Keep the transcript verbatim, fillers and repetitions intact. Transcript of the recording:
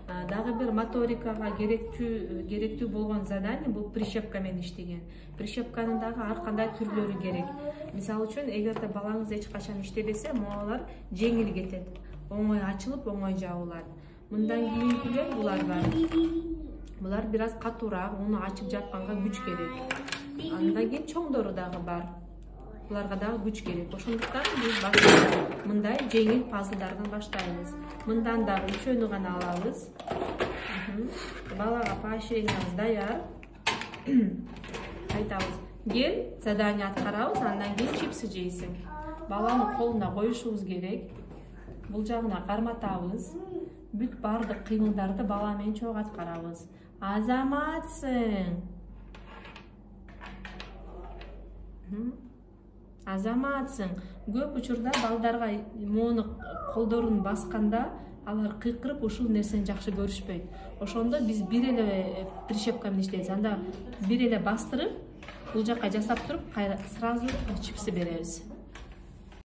Дагы бир моторикага керектүү керектүү болгон задание бул прищепка менен иштеген. Прищепканын дагы ар кандай түрлөрү керек. Мисалы үчүн, эгерде балаңыз эч качан иштебесе, могулар жеңил кетет. Оңой ачылып, оңой жабылат. Мындан кийинкилер булар бар. Булар бир аз катуураак, уну ачып жапканга күч керек. Андан кийин чоңдору дагы бар. Буларга дагы күч керек. Ошондуктан биз башта мындай жеңил пазлдардан баштайбыз. Мындан дагы үчөөнү гана алабыз. Балага поощрениябыз даяр. Айтабыз: кел, задание аткарабыз, андан кийин чипсы жейсиң. Баланы колуна коюшубуз керек. Бул жагына карматабыз. Бүт бардык кыймылдарды бала менен чогуу аткарабыз. Азаматсың. Азаматсың. Көп учурда балдарга моуну колдорун басканда алар кыйкырып ушул нерсени жакшы көрүшпөйт. Ошондо биз бир эле прищепка менен иштейбиз. Анда бир эле бастырып, бул жакка жасап туруп, сразу чипсы беребиз.